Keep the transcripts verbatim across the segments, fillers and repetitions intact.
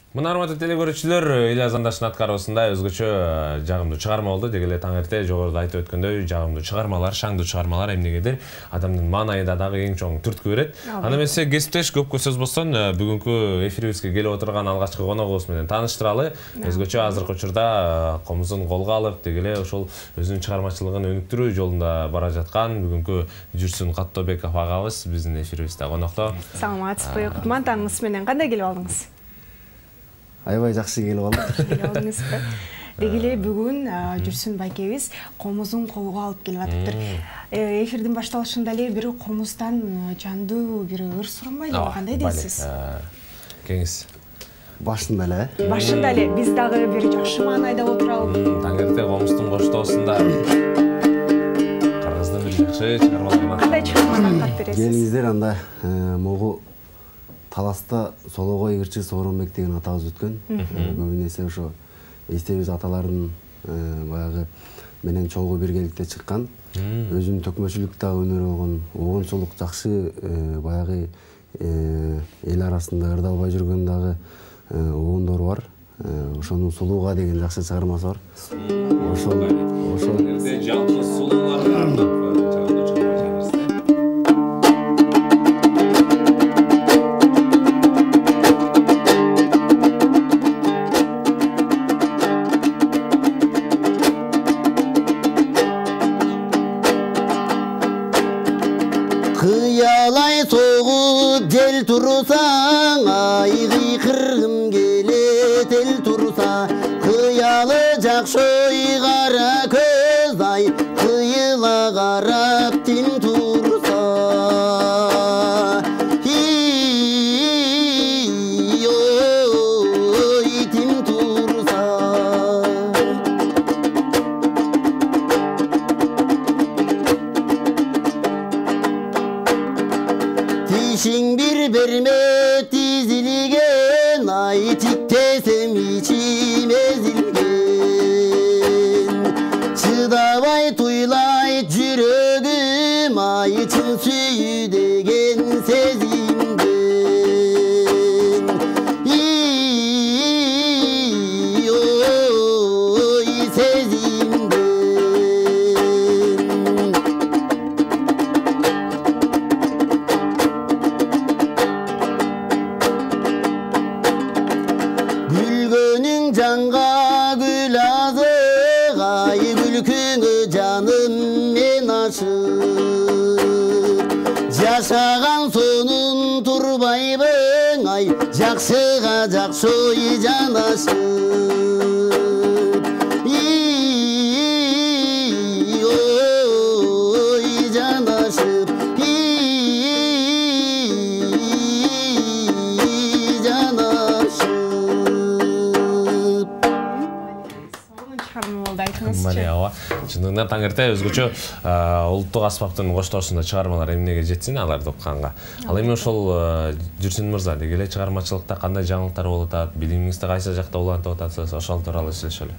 Мына урматтуу телекөрүүчүлөр, Ильяс Андашдын аткаруусунда өзгөчө жагымдуу чыгарма болду. Деги эле таң эрте жогоруда айтып өткөндөй, жагымдуу чыгармалар, шаңдуу чыгармалар эмнегедир адамдын маанайында дагы эң чоң түрткү берет. Анда эмесе кесиптеш көпкө сөз болсун, бүгүнкү эфирибизге келип отурган алгачкы коногубуз менен тааныштыралы. Өзгөчө азыркы учурда комузун колго алып, деги эле ошол өзүнүн чыгармачылыгын өнүктүрүү жолунда бара жаткан бүгүнкү Жүрсүн Каттобеков агабыз биздин эфирибизде конокто. Саламатсызбы, кутман таңыңыз менен кандай келип алдыңыз? Аябай жакшы келип алдым. Деги эле бүгүн Жүрсүн байкебиз комузун колго алып келип атыптыр. Эфирдин башталышында эле бир комуздан жандуу бир ыр суранбайдыбы, кандай дейсиз? Кеңиз. Башында эле. Башында эле биз дагы бир жакшы маанайда отуралы. Таң эрте комуздун коштоосунда кыргыздын бир жакшы чыгармаларынан кандай чыгарманы кат бересиз? Келиңиздер, анда могу Таласта Сологой ырчы Сооронбек деген атабыз өткөн. Көбүн эсе ошо эстебиз аталардын баягы менен чогуу биргеликте чыккан. Өзүнүн төкмөчүлүктө өнөр болгон огончулук жакшы баягы эл арасында ырдалбай жүргөн дагы огондор бар. Ошонун Сулууга деген жакшы чыгармасы бар. Ошол ошол жерде жалпы сулууларды ардап Ел турсаң, айгы кыргым келет эл турса, кыялы жакшы кара көз ай, кыйыла карап тим турса. Ой, тим турса. Тишиң берме тизилген, ай тиктесем ичим эзилген. Чыдабай туйлайт жүрөгүм, ай чын сүйүү деген сезимден. Ой, сезимден. Жанга гүл азык, ай күлкүңө жаным мен ашык. Жашаган сонун турбайбың, ай жакшыга жакшы ой жанашып. Ой жанашып. Чындыгында таң эрте өзгөчө улуттук аспаптын коштоосунда чыгармалар эмнеге жетсин аларды укканга. Ал эми ошол Жүрсүн мырза, деги эле чыгармачылыкта кандай жаңылыктар болуп атат, билимиңизди кайсы жакта улантып атасыз, ошол тууралуу сүйлөшөлү.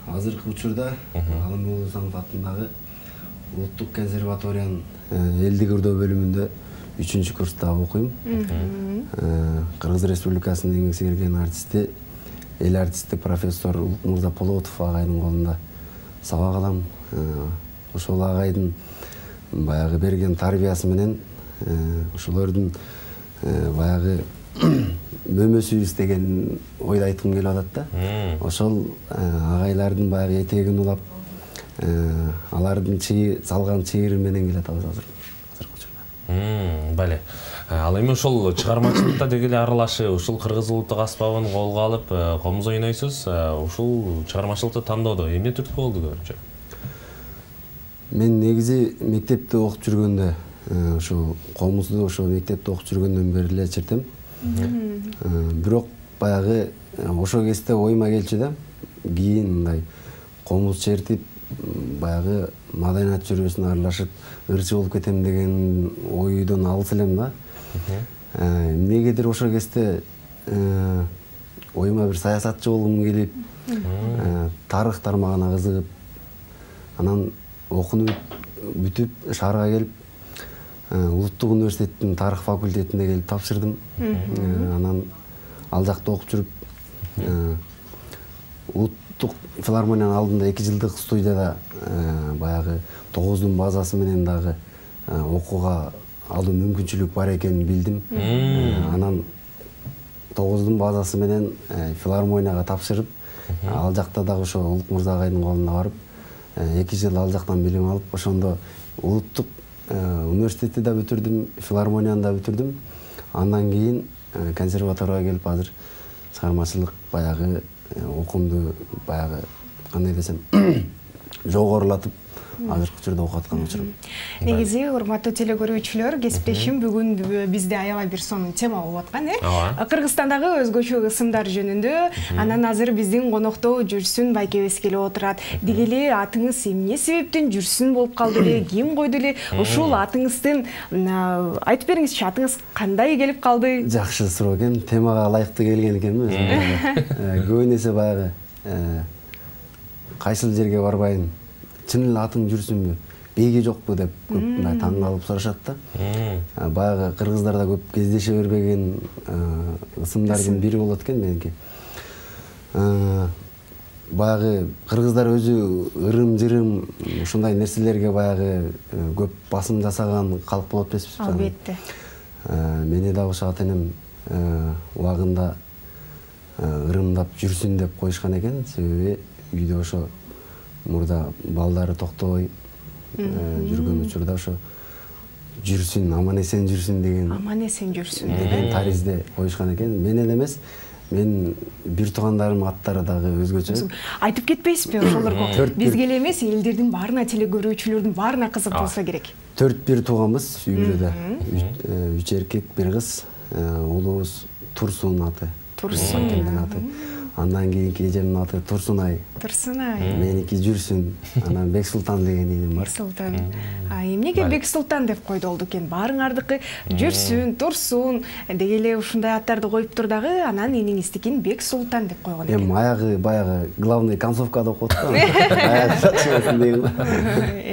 Азыркы учурда Алымбек Улусанов атындагы Улуттук консерваториянын элдик ырдоо бөлүмүндө үчүнчү курста окуйм. Кыргыз Республикасынын эң сіңирген артисти, эл артисти профессор Мырза Полотов агайдын колунда сабак алам. Ошол агайдын баягы берген тарбиясы менен ошолордун баягы мөмөсүбүз деген ойду айткым келип атат да. Ошол агайлардын баягы этегин улап, алардын салган чыйыры менен келатабыз азыр. Азыркы учурда. Бале. Ал эми ошол чыгармачылыкта деги эле аралашып, ушул кыргыз улуттук аспабын колго алып, комуз ойнойсуз. Ушул чыгармачылыкты тандоодо эмне түрткү болду көбүнчө? Мен негизи мектепте окуп жүргөндө, ошо комузду ошо мектепте окуп жүргөндөн бери эле чертем. Бирок баягы ошол кезде оюма келчү да, кийин мындай комуз чертип, баягы маданият жүйөсүнө аралашып, ырчы болуп кетем деген ойдон алыс элем да. Эмнегедир ошол кезде оюма бир саясатчы болгум келип, тарых тармагына кызыгып, анан окунуп бүтүп шаарга келип, Улуттук университеттин тарых факультетине келип тапшырдым. Анан ал жакта окуп жүрүп улуттук филармониянын алдында эки жылдык студияда баягы тогуздун базасы менен дагы окууга алуу мүмкүнчүлүк бар экенин билдим. Анан тогуздун базасы менен филармонияга тапшырып, ал жакта дагы ошо Улук мырза агайдын колуна барып, эки жыл ал жактан билим алып, ошондо улуттук университетти да бүтүрдүм, филармонияны да бүтүрдүм. Андан кийин консерваторияга келип азыр чыгармачылык баягы окуумду баягы кандай десем жогорулатып азыркы учурда окуп аткан учурум. Негизи урматтуу теле көрүүчүлөр, кесиптешим бүгүн бизде аябай бир сонун тема болуп аткан, э? Кыргызстандагы өзгөчө ысымдар жөнүндө. Анан азыр биздин конокто Жүрсүн байкебиз келип отурат. Деги эле атыңыз эмне себептен Жүрсүн болуп калды эле? Ким койду эле? Ушул атыңыздын айтып бериңизчи, атыңыз кандай келип калды? Жакшы суроо экен. Темага ылайыктуу келген экенми өзүм. Көбүн эсе баягы кайсыл жерге барбайын, чын эле атың Жүрсүнбү, бейги жокпу деп көп мындай таң калып сурашат да. Баягы кыргыздарда көп кездеше бербеген ысымдардын бири болот экен меники. Баягы кыргыздар өзү ырым-жырым ушундай нерселерге баягы көп басым жасаган калк болот эмеспи? Албетте. Мени дагы ошо ата-энем убагында ырымдап Жүрсүн деп коюшкан экен, себеби үйдө ошо мурда балдары токтобой жүргөн учурда ошо Жүрсүн, аман эсен жүрсүн деген аман эсен жүрсүн деген таризде коюшкан экен. Мен эле эмес, мен бир туугандарымдын аттары дагы өзгөчө. Айтып кетпейсизби ошолорго? Бизге эле эмес, элдердин баарына, теле көрүүчүлөрдүн баарына кызык болсо керек. Төрт бир тууганбыз үй-бүлөдө. Үч эркек, бир кыз. Улуубуз Турсун аты. Турсун аты. Андан кийинки эжемдин аты Турсунай. Турсунай. Меники Жүрсүн. Анан Бексултан деген ийим бар. Бексултан. А эмнеге Бексултан деп койду болду экен? Баарыңардыкы Жүрсүн, Турсун деги эле ушундай аттарды коюптур дагы, анан эниңиздикин Бексултан деп койгон экен. Эми аягы баягы главный концовкада окуп атты. Аягы чачыбасын деген.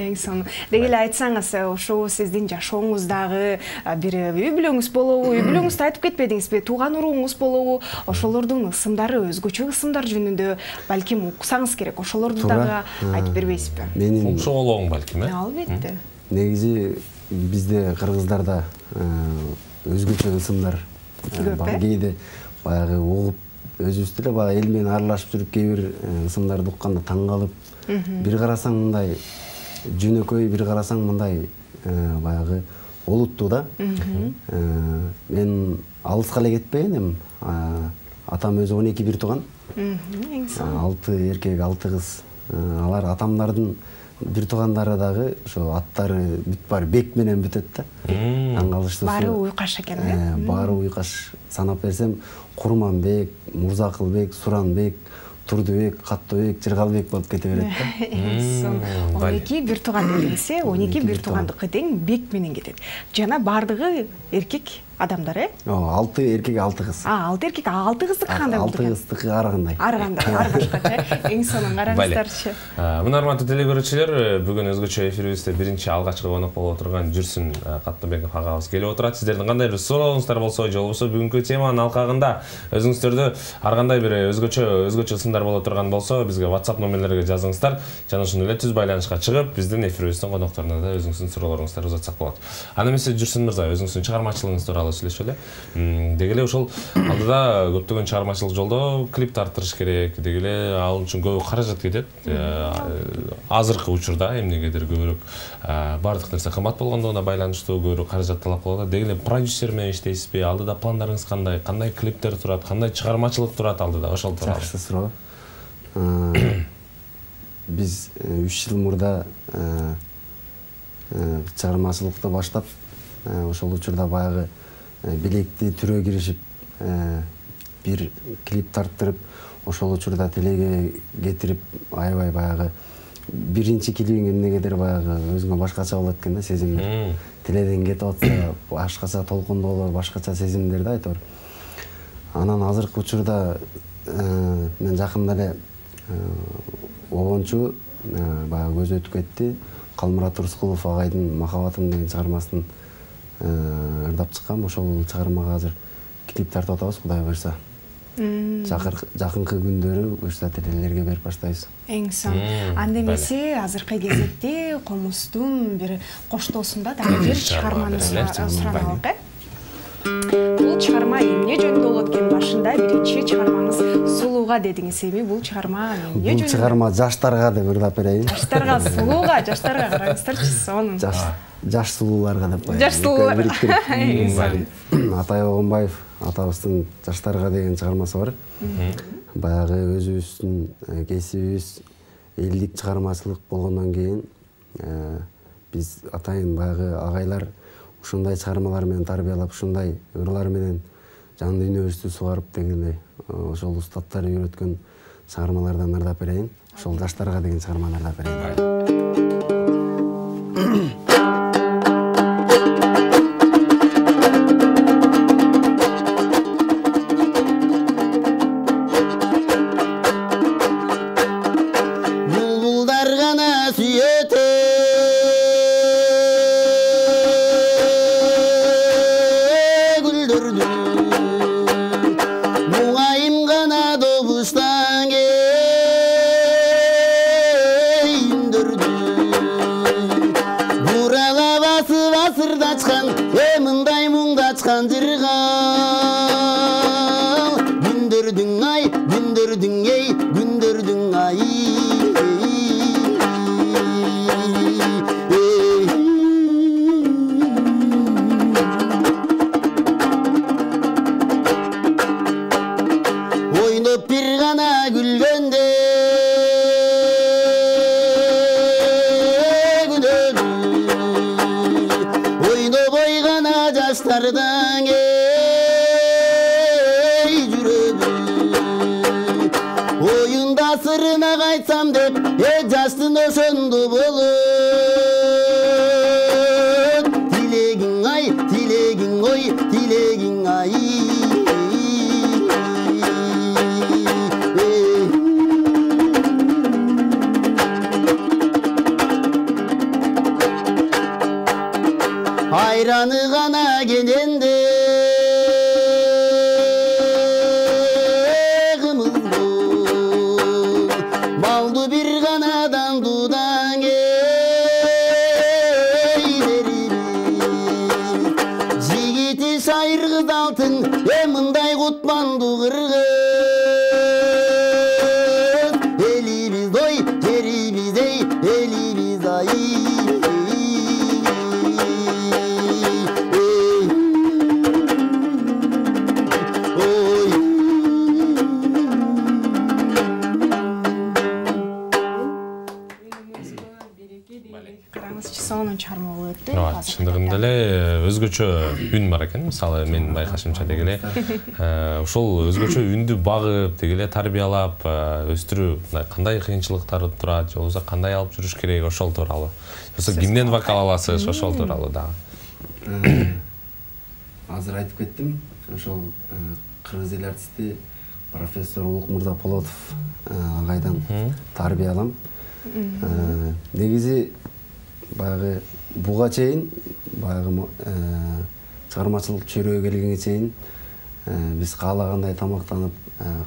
Эң сонун. Деги эле айтсаңыз, ошо сиздин жашооңуздагы бир үй бүлөңүз болобу, үй бүлөңүздү айтып кетпедиңизби? Тууган урууңуз болобу? Ошолордун ысымдары, өзгөчө ысымдар жөнүндө балким уксаңыз керек, ошолорду дагы айтып бербейсизби? Менин окшоголооң балким, э? Албетте. Негизи бизде кыргыздарда өзгөчө ысымдар бар. Кээде баягы угуп өзүбүз деле баягы эл менен аралашып жүрүп кээ бир ысымдарды укканда таң калып, бир карасаң мындай жөнөкөй, бир карасаң мындай баягы олуттуу да. Мен алыска эле кетпегенмин. Атам өзү он эки бир тууган. алты эркек, алты кыз. Алар атамдардын бир туугандары дагы ошо аттары бүт баары Бек менен бүтөт да. Таң калыштуу. Баары уйкаш экен, э? Баары уйкаш. Санап берсем, Курманбек, Мурзакылбек, Суранбек, Турдубек, Каттыбек, Жыргалбек болуп кете берет да. он эки бир тууган дедиңиз, э? он эки бир туугандыкы тең Бек менен кетет. Жана бардыгы эркек адамдар, э? Ооба, алты эркек, алты кыз. А, алты эркек, алты кыздыкы кандай болду экен? Алты кыздыкы ар кандай. Ар кандай, ар башка, э? Эң сонун караңыздарчы. Мына урматтуу теле көрүүчүлөр, бүгүн өзгөчө эфирибизде биринчи алгачкы конок болуп отурган Жүрсүн Каттыбеков агабыз келип отурат. Сиздердин кандай бир сурооңуздар болсо, же болбосо бүгүнкү теманын алкагында өзүңүздөрдө ар кандай бир өзгөчө өзгөчө ысымдар боло турган болсо, бизге WhatsApp номерлерге жазыңыздар. Жана ошондой эле түз байланышка чыгып, биздин эфирибиздин конокторуна да өзүңүздүн суроолоруңузду узатсак болот. Анда эмесе Жүрсүн мырза, өзүңүздүн чыгармачылыгыңыз тууралуу сүйлөшөлү. Деги эле ошол алдыда көптөгөн чыгармачылык жолдо клип тарттырыш керек, деги эле ал үчүн көп каражат кетет. Азыркы учурда эмнегедир көбүрөөк баардык нерсе кымбат болгондугуна байланыштуу көбүрөөк каражат талап кылат. Деги эле продюсер менен иштейсизби? Алдыда пландарыңыз кандай? Кандай клиптер турат? Кандай чыгармачылык турат алдыда? Ошол тууралуу. Жакшы суроо. Биз үч жыл мурда чыгармачылыкты баштап, ошол учурда баягы билекти түрөө киришип, бир клип тарттырып, ошол учурда телеге кетирип, аябай баягы биринчи клибиң эмнегедир баягы өзүңө башкача болот экен да, сезимдер. Теледен кетип атса, башкача толкундуу болор, башкача сезимдер да айтор. Анан азыркы учурда мен жакында эле обончу баягы көзү өтүп кетти. Калмурат Турскулов агайдын Махаббатым деген чыгармасын ырдап чыккан. Ошол чыгармага азыр клип тартып атабыз, Кудай буйрса. Жакынкы күндөрү ушул ательелерге берип баштайбыз. Эң сонун. Анда эмесе азыркы кезекте Комуздун бир коштоосунда дагы бир чыгармаңызды суранабык э? Бул чыгарма эмне жөнүндө болот экен? Башында биринчи чыгармаңыз Сулууга дедиңиз. Эми бул чыгарма эмне жөнүндө? Бул чыгарма жаштарга деп ырдап берейин. Жаштарга, сулууга, жаштарга караңыздарчы, сонун. Жаш сулууларга деп коеюн. Жаш сулуулар. Атай Огонбаев атабыздын жаштарга деген чыгармасы бар. Баягы өзүбүздүн кесибибиз элдик чыгармачылык болгондон кийин биз атайын баягы агайлар ушундай чыгармалар менен тарбиялап, ушундай ырлар менен жан дүйнөбүздү сугарып дегендей ошол устаттар үйрөткөн чыгармалардан ырдап берейин. Ошол жаштарга деген чыгарманы ырдап берейин. Айраны гана кененде кымызбол малды бир ганадан дудан кейдерибиз жигити шайыр кыз алтын э мындай кутманду кыргыз элибиз ой жерибиз эй элибиз ай чындыгында эле өзгөчө үн бар экен. Мисалы менин байкашымча деги эле ошол өзгөчө үндү багып, деги эле тарбиялап өстүрүү кандай кыйынчылыктар турат, же болбосо кандай алып жүрүш керек ошол тууралуу. Жоксо кимден вокал аласыз ошол тууралуу дагы. Азыр айтып кеттим. Ошол кыргыз эл артисти профессор Улукмурза Полотов агайдан тарбиялам. Негизи баягы буга чейин баягы чыгармачылык чөйрөгө келгенге чейин биз каалагандай тамактанып,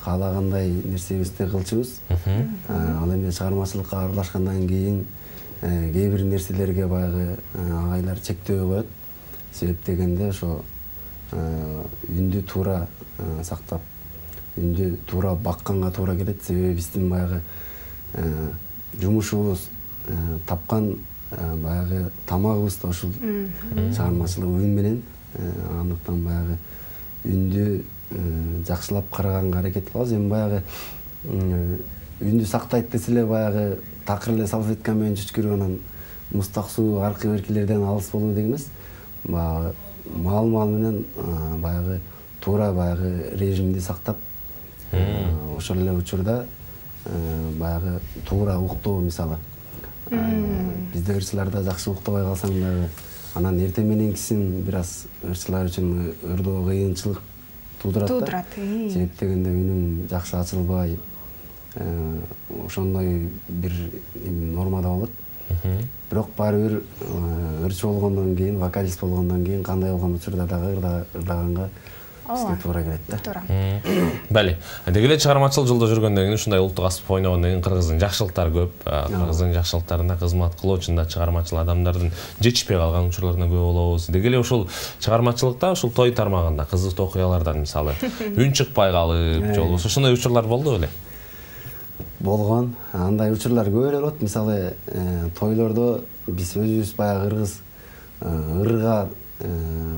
каалагандай нерсебизди кылчубуз. Ал эми чыгармачылыкка аралашкандан кийин кээ бир нерселерге баягы агайлар чектөө коет. Себеп дегенде ошо үндү туура сактап, үндү туура бакканга туура келет. Себеби биздин баягы жумушубуз тапкан баягы тамагыбыз да ушул чыгармачылык үн менен. Андыктан баягы үндү жакшылап караганга аракет кылабыз. Эми баягы үндү сактайт десе эле баягы такыр эле салфетка менен чүчкүрүп анан мустак суу аркы беркилерден алыс болуу деги эмес. Баягы маал-маал менен баягы туура баягы режимди сактап, ошол эле учурда баягы туура уктоо, мисалы бизде ырчыларда жакшы уктабай калсаң дагы анан эртең мененкисин бир аз ырчылар үчүн ырдоо кыйынчылык туудурат. Себеп дегенде үнүң жакшы ачылбай, ошондой бир нормада болот. Бирок баары бир ырчы болгондон кийин, вокалист болгондон кийин кандай болгон учурда дагы ырдаганга бизге туура келет да. Туура. Бали. Деги эле чыгармачыл жолдо жүргөндөн кийин ушундай улуттук аспап ойногондон кийин кыргыздын жакшылыктары көп. Кыргыздын жакшылыктарына кызмат кылуучунда чыгармачыл адамдардын жетишпей калган учурларына көп болобуз. Деги эле ушул чыгармачылыкта ушул той тармагында кызыктуу окуялардан мисалы үн чыкпай калып, же болбосо ошондой учурлар болду беле? Болгон. Андай учурлар көп эле болот. Мисалы, тойлордо биз өзүбүз баягы кыргыз ырга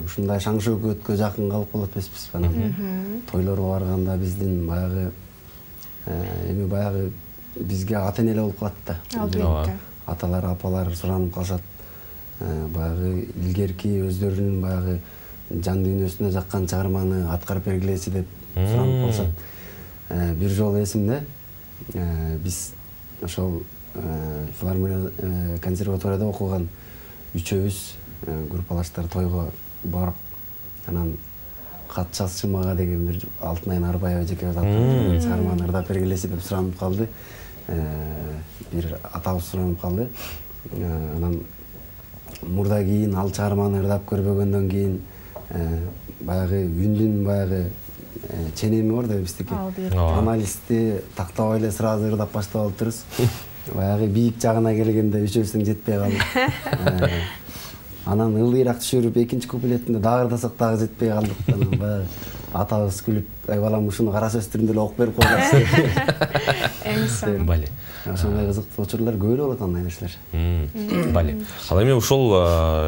ушундай шаң шөкөткө жакын калып калат эмеспиз. Анан тойлорго барганда биздин баягы эми баягы бизге ата-эне эле болуп калат да. Албетте. Аталар, апалар суранып калышат. Баягы илгерки өздөрүнүн баягы жан дүйнөсүнө жаккан чыгарманы аткарып бергилечи деп суранып калышат. Бир жолу эсимде, биз ошол филармония консерваторияда окуган үчөөбүз группалаштар тойго барып, анан кат жазчы мага деген бир Алтынайым Арбаева эжекебиз аткан чыгарманы ырдап бергилечи деп суранып калды. Бир атабыз суранып калды. Анан мурда кийин ал чыгарманы ырдап көрбөгөндөн кийин баягы үндүн баягы ченеми бар да биздики. Анализди тактабай эле сразу ырдап баштап алыптырбыз. Баягы бийик жагына келгенде үчөөбүздүн жетпей калды. Анан ылдыйраак түшүрүп экинчи куплетинде дагы ырдасак дагы жетпей калдык. Анан баягы атабыз күлүп, "Ай балам, ушуну кара сөз түрүндө эле окуп берип койгула." Эң Бали. Ошондой кызыктуу учурлар көп эле болот андай нерселер. Бали. Ал эми ушул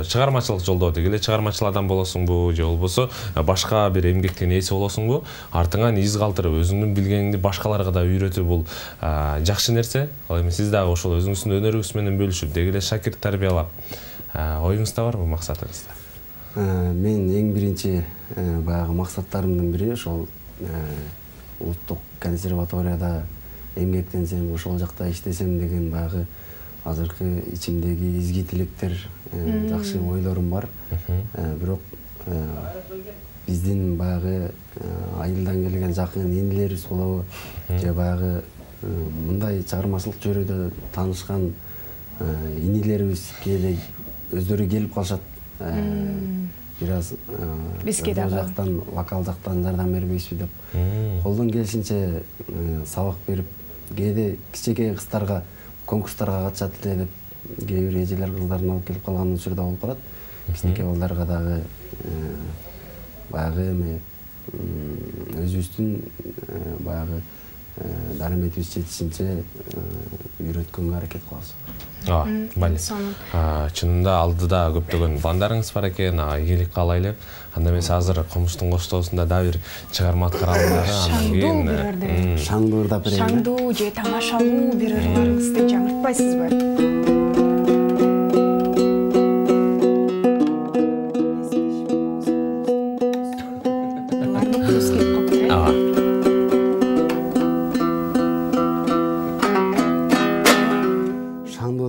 чыгармачылык жолдо деги эле чыгармачыл адам болосуңбу, же болбосо башка бир эмгектин ээси болосуңбу, артыңан из калтырып, өзүңдүн билгениңди башкаларга да үйрөтүү бул жакшы нерсе. Ал эми сиз дагы ошол өзүңүздүн өнөрүңүз менен бөлүшүп, деги эле шакирт тарбиялап, оюңузда барбы максатыңызда? Мен эң биринчи баягы максаттарымдын бири ошол улуттук консерваторияда эмгектенсем, ошол жакта иштесем деген баягы азыркы ичимдеги изги тилектер, жакшы ойлорум бар. Бирок биздин баягы айылдан келген жакын инилерибиз болобу, же баягы мындай чыгармачылык чөйрөдө таанышкан инилерибиз кээде өздөрү келип калышат. Бир аз бизге дагы жактан, вокал жактан жардам бербейсизби деп колдон келишинче сабак берип, кээде кичинекей кыздарга конкурстарга катышат эле деп кээ бир эжелер кыздарын алып келип калган учурда болуп калат. Кичинекей балдарга дагы баягы эми өзүбүздүн баягы дараметибиз жетишинче үйрөткөнгө аракет кылабыз. Ооба, бали. Чынында алдыда көптөгөн пландарыңыз бар экен, ийгилик каалайлы. Анда эмес азыр Комуштун коштоосунда да бир чыгарма аткаралы дагы, андан кийин шаңдуу ырдап берейин. Шаңдуу же тамашалуу бир ырларыңызды жаңыртпайсызбы?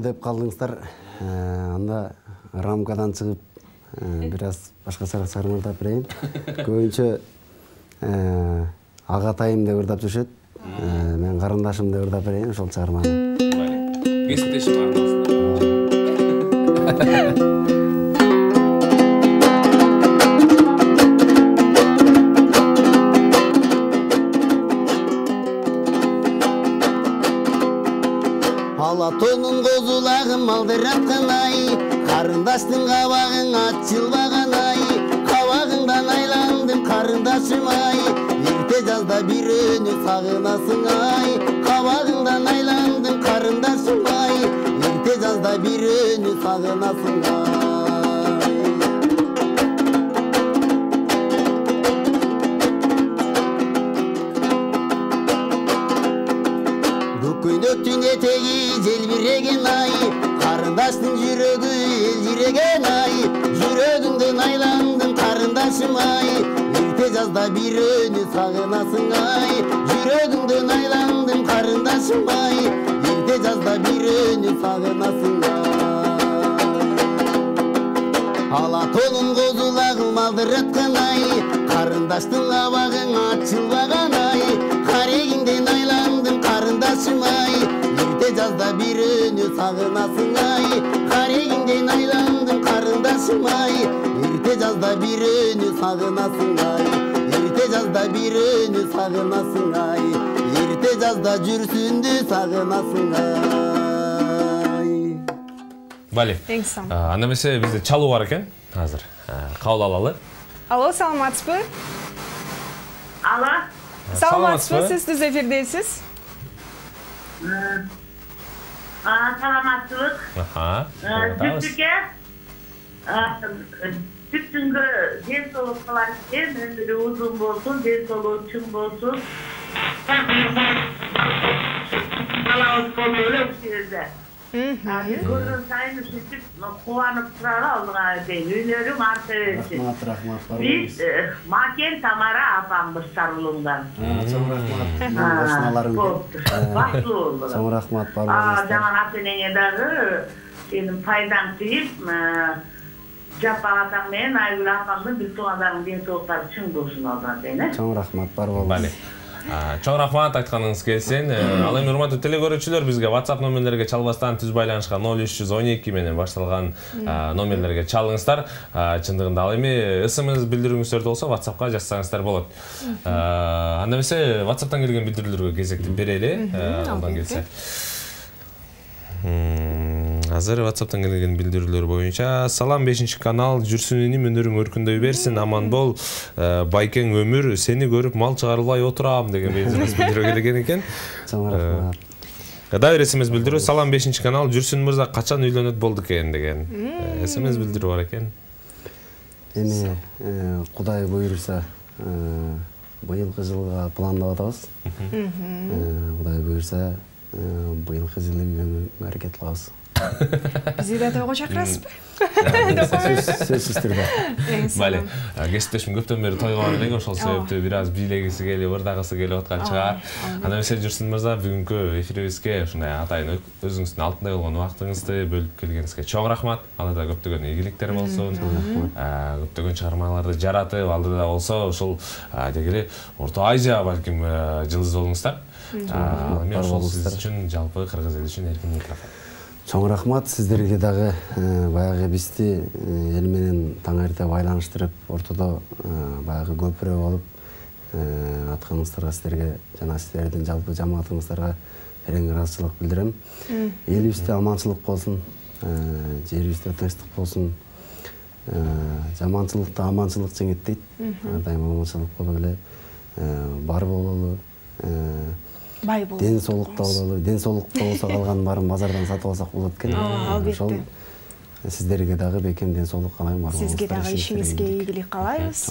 Деп калдыңыздар, анда рамкадан чыгып бир аз башкача чыгарма ырдап берейин. Көбүнчө агатайым деп ырдап жүрүшөт. Мен карындашым деп ырдап берейин ошол чыгарманы. Кесиптешим арасында. Алатонун козулагын малдыраткан ай, карындаштын кабагың ачылбаган ай, кабагыңдан айландым карындашым ай, эрте жазда бирөөнү сагынасың ай, кабагыңдан айландым карындашым ай, эрте жазда бирөөнү сагынасың ай. Көйнөктүн этеги желбиреген ай, карындаштын жүрөгү элжиреген ай, жүрөгүңдөн айландым карындашым ай, эрте жазда бирөөнү сагынасың ай, жүрөгүңдөн айландым карындашым ай, эрте жазда бирөөнү сагынасың ай. Алатонун козулагын малдыраткан ай, карындаштын кабагың ачылбаган ай, карегиңден айландым карындашым ай, эрте жазда бирөөнү сагынасың ай, карегиңден айландым карындашым ай, эрте жазда бирөөнү сагынасың ай. эрте жазда бирөөнү сагынасың ай, эрте жазда жүрсүндү сагынасың ай. Бали. Эң сау. Анда эмесе бизде чалуу бар экен азыр. Кабыл алалы. Алло, саламатсызбы? Алло. Саламатсызбы? Сиз түз эфирдесиз. Саламатсызбы. Аха. Түптүкке түптүнгө ден соолук кылар экен, өмүрү узун болсун, ден соолугу чың болсун. Калабыз болду эле ушерде. Көргөн сайын ушинтип кубанып туралы алдыңа дейин. Үйлөрүң арта берсин. Рахмат, рахмат. Биз Макен Тамара апамбыз Сарылуңдан. Чоң рахмат. Машиналарың. Бактылуу болду. Чоң рахмат бар А, болуңуздар. жаман ата-энеңе дагы сенин пайдаң тиіп, Жаппак атаң менен Айгүл апамдын бүт туугандарыңдын ден соолуктары чың болсун алдыга дейин. Чоң рахмат бар болуңуз. Чоң рахмат айтканыңыз келсин. Ал эми урматтуу телекөрүүчүлөр, бизге WhatsApp номерлерге чалбастан түз байланышка ноль үч жүз он эки менен башталган номерлерге чалыңыздар. Чындыгында ал эми СМС билдирүүңүздөрдө болсо WhatsAppка жазсаңыздар болот. Анда эмесе WhatsApp'тан келген билдирүүлөргө кезекти берели. Алдан келсе. Азыр WhatsApp'тан келген билдирүүлөр боюнча салам бешинчи канал, жүрсүнүнүн өнөрүң өркүндөй берсин, аман бол, байкең өмүр, сени көрүп мал чыгарылбай отурам деген билдирүү келген экен. Чоң рахмат. Дагы СМС билдирүү, салам бешинчи канал, жүрсүн мырза качан үйлөнөт болду экен деген СМС билдирүү бар экен. Эми Кудай буйруса быйылкы жылга пландап атабыз. Кудай буйруса быйылкы жылы үйлөнүүгө аракет кылабыз. Бизди да тойго чакырасызбы? Сөзсүз түрдө. Бали, кесиптешим көптөн бери тойго бар элек, ошол себептүү бир аз бийлегиси келип, ырдагысы келип аткан чыгар. Анда эмесе жүрсүн мырза, бүгүнкү эфирибизге ушундай атайын өзүңүздүн алтындай болгон убактыңызды бөлүп келгениңизге чоң рахмат. Алдыда көптөгөн ийгиликтер болсун. Көптөгөн чыгармаларды жаратып, алдыда болсо ушул дегеле Орто Азия балким жылдыз болуңуздар. Эми ошол сиз үчүн, жалпы кыргыз эли үчүн эркин микрофон. Чоң рахмат сиздерге дагы баягы бизди эл менен таң эрте байланыштырып, ортодо баягы көпүрө болуп атканыңыздарга сиздерге жана сиздердин жалпы жамаатыңыздарга терең ыраазычылык билдирем. Элибизде аманчылык болсун, жерибизде тынчтык болсун. Жаманчылыкты аманчылык жеңет дейт. Ар дайым аманчылык болуп эле бар бололу. Бай бололу. Ден соолукта бололу. Ден соолукта болсо калган баарын базардан сатып алсак болот экен. Ошол сиздерге дагы бекем ден соолук каалайм. Сизге дагы ишиңизге ийгилик каалайбыз.